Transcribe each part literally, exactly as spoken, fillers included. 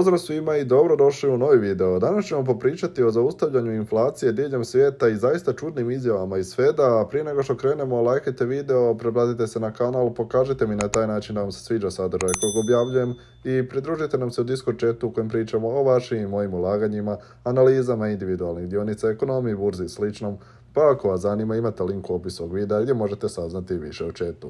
Pozdrav svima i dobrodošli u novi video. Danas ćemo popričati o zaustavljanju inflacije diljem svijeta i zaista čudnim izjavama iz Feda. Prije nego što krenemo, lajkajte video, pretplatite se na kanal, pokažite mi na taj način da vam se sviđa sadržaj kojeg objavljujem i pridružite nam se u Discord chatu u kojem pričamo o vašim i mojim ulaganjima, analizama individualnih dionica, ekonomiji, burzi i sličnom. Pa ako vas zanima, imate link u opisu ovog videa gdje možete saznati više o chatu.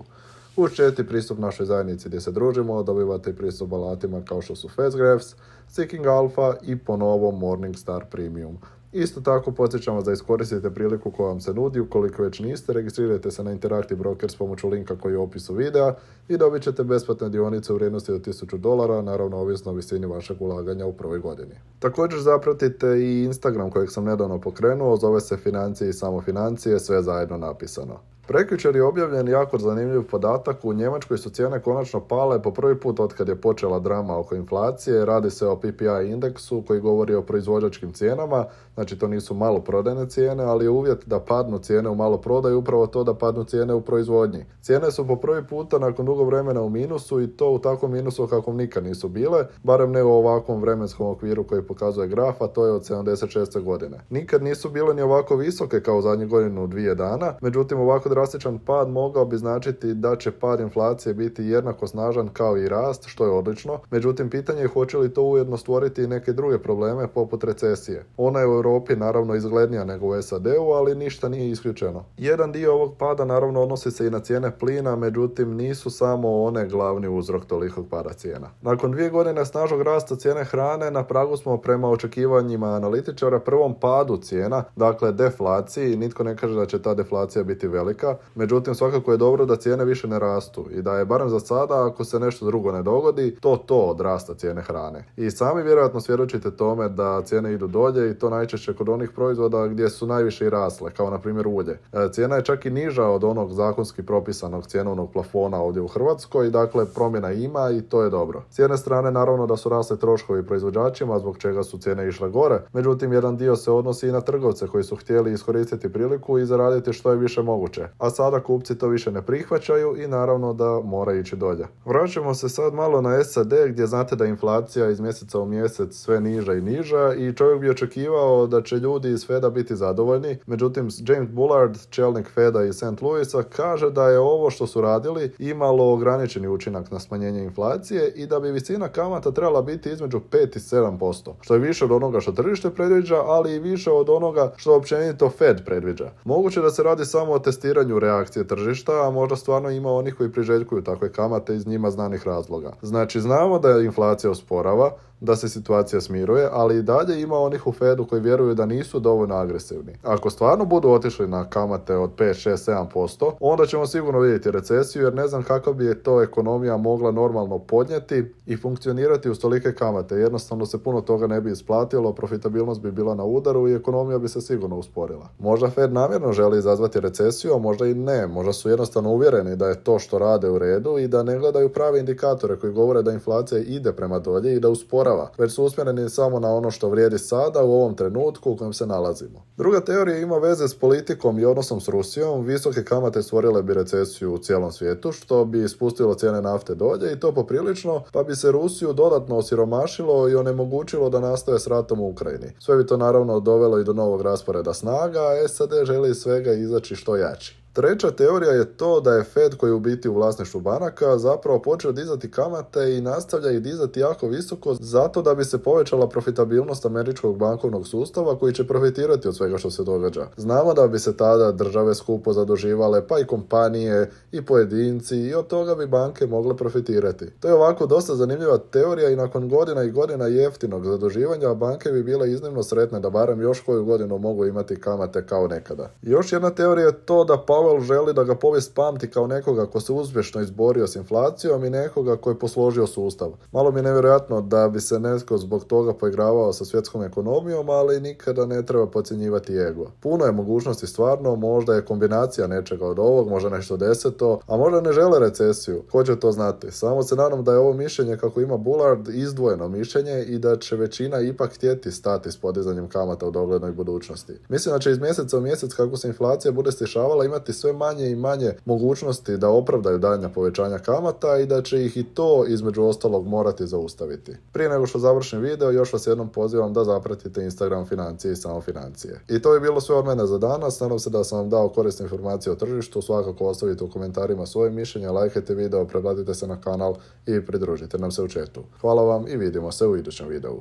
Uz chat i pristup našoj zajednici gdje se družimo, dobivate i pristup alatima kao što su FastGraphs, Seeking Alpha i po novom Morningstar Premium. Isto tako podsjećam vas da iskoristite priliku koja vam se nudi, ukoliko već niste, registrirajte se na Interactive Brokers s pomoću linka koji je u opisu videa i dobit ćete besplatne dionice u vrijednosti od tisuću dolara, naravno ovisno o visini vašeg ulaganja u prvoj godini. Također zapratite i Instagram kojeg sam nedavno pokrenuo, zove se Financije i samo financije, sve zajedno napisano. Prekjučer je objavljen jako zanimljiv podatak. U Njemačkoj su cijene konačno pale po prvi put otkad je počela drama oko inflacije. Radi se o P P I indeksu koji govori o proizvođačkim cijenama, znači to nisu maloprodajne cijene, ali je uvjet da padnu cijene u maloprodaju upravo to da padnu cijene u proizvodnji. Cijene su po prvi puta nakon dugo vremena u minusu i to u takvom minusu kakvom nikad nisu bile, barem ne u ovakvom vremenskom okviru koji pokazuje graf, a to je od sedamdeset šeste godine. Nikad nisu bile ni ovako visoke kao u zadnjih godinu dvije dana, međutim ovako drastičan pad mogao bi značiti da će pad inflacije biti jednako snažan kao i rast, što je odlično. Međutim, pitanje je hoće li to ujedno stvoriti i neke druge probleme poput recesije. Ona je u Europi naravno izglednija nego u S A D-u, ali ništa nije isključeno. Jedan dio ovog pada naravno odnosi se i na cijene plina, međutim nisu samo one glavni uzrok tolikog pada cijena. Nakon dvije godine snažnog rasta cijene hrane, na pragu smo prema očekivanjima analitičara prvom padu cijena, dakle deflaciji. Nitko ne kaže da će ta deflacija biti velika. Međutim, svakako je dobro da cijene više ne rastu i da je barem za sada, ako se nešto drugo ne dogodi, to to od rasta cijene hrane. I sami vjerojatno svjedočite tome da cijene idu dolje i to najčešće kod onih proizvoda gdje su najviše i rasle, kao na primjer ulje. Cijena je čak i niža od onog zakonski propisanog cjenovnog plafona ovdje u Hrvatskoj, dakle promjena ima i to je dobro. S jedne strane naravno da su rasle troškovi proizvođačima, zbog čega su cijene išle gore, međutim jedan dio se odnosi i na trgovce koji su htjeli iskoristiti priliku i zaraditi što je više moguće. A sada kupci to više ne prihvaćaju i naravno da mora ići dolje. Vraćamo se sad malo na S A D gdje znate da je inflacija iz mjeseca u mjesec sve niža i niža i čovjek bi očekivao da će ljudi iz Feda biti zadovoljni. Međutim, James Bullard, čelnik Feda iz Saint Louisa, kaže da je ovo što su radili imalo ograničeni učinak na smanjenje inflacije i da bi visina kamata trebala biti između pet i sedam posto, što je više od onoga što tržište predviđa, ali i više od onoga što općenito Fed predviđa. Moguće da se radi samo o testiranju reakcije tržišta, a možda stvarno ima onih koji priželjkuju takve kamate iz njima znanih razloga. Znači, znamo da je inflacija usporava, da se situacija smiruje, ali i dalje ima onih u Fedu koji vjeruju da nisu dovoljno agresivni. Ako stvarno budu otišli na kamate od pet, šest, sedam posto, onda ćemo sigurno vidjeti recesiju, jer ne znam kako bi je to ekonomija mogla normalno podnijeti i funkcionirati uz tolike kamate. Jednostavno se puno toga ne bi isplatilo, profitabilnost bi bila na udaru i ekonomija bi se sigurno usporila. Možda Fed namjerno želi izazvati recesiju, a možda i ne. Možda su jednostavno uvjereni da je to što rade u redu i da ne gledaju prave indikatore koji govore da inflacija ide prema dolje i da usporava, već su usmjereni samo na ono što vrijedi sada u ovom trenutku u kojem se nalazimo. Druga teorija ima veze s politikom i odnosom s Rusijom. Visoke kamate stvorile bi recesiju u cijelom svijetu, što bi spustilo cijene nafte dolje i to poprilično, pa bi se Rusiju dodatno osiromašilo i onemogućilo da nastaje s ratom u Ukrajini. Sve bi to naravno dovelo i do novog rasporeda snaga, a S A D želi iz svega izaći što jači. Treća teorija je to da je Fed, koji je u biti u vlasništvu banaka, zapravo počeo dizati kamate i nastavlja ih dizati jako visoko zato da bi se povećala profitabilnost američkog bankovnog sustava koji će profitirati od svega što se događa. Znamo da bi se tada države skupo zaduživale, pa i kompanije i pojedinci, i od toga bi banke mogle profitirati. To je ovako dosta zanimljiva teorija i nakon godina i godina jeftinog zaduživanja banke bi bile iznimno sretne da barem još koju godinu mogu imati kamate kao nekada. Još jedna teorija je to da Powell želi da ga povijest pamti kao nekoga ko se uspješno izborio s inflacijom i nekoga ko je posložio sustav. Malo mi je nevjerojatno da bi se netko zbog toga poigravao sa svjetskom ekonomijom, ali nikada ne treba podcjenjivati ego. Puno je mogućnosti stvarno, možda je kombinacija nečega od ovog, možda nešto deseto, a možda ne žele recesiju. Ko će to znati? Samo se nadam da je ovo mišljenje kako ima Bullard izdvojeno mišljenje i da će većina ipak htjeti stati s podizanjem kamata u doglednoj budućnosti. Mislim da će iz mjeseca u mjesec, kako se inflacija bude stišavala, imati imati sve manje i manje mogućnosti da opravdaju daljnja povećanja kamata i da će ih i to između ostalog morati zaustaviti. Prije nego što završim video, još vas jednom pozivam da zapratite Instagram Financije i Samo financije. I to je bilo sve od mene za danas. Nadam se da sam vam dao korisne informacije o tržištu. Svakako ostavite u komentarima svoje mišljenje, lajkajte video, pretplatite se na kanal i pridružite nam se u chatu. Hvala vam i vidimo se u idućem videu.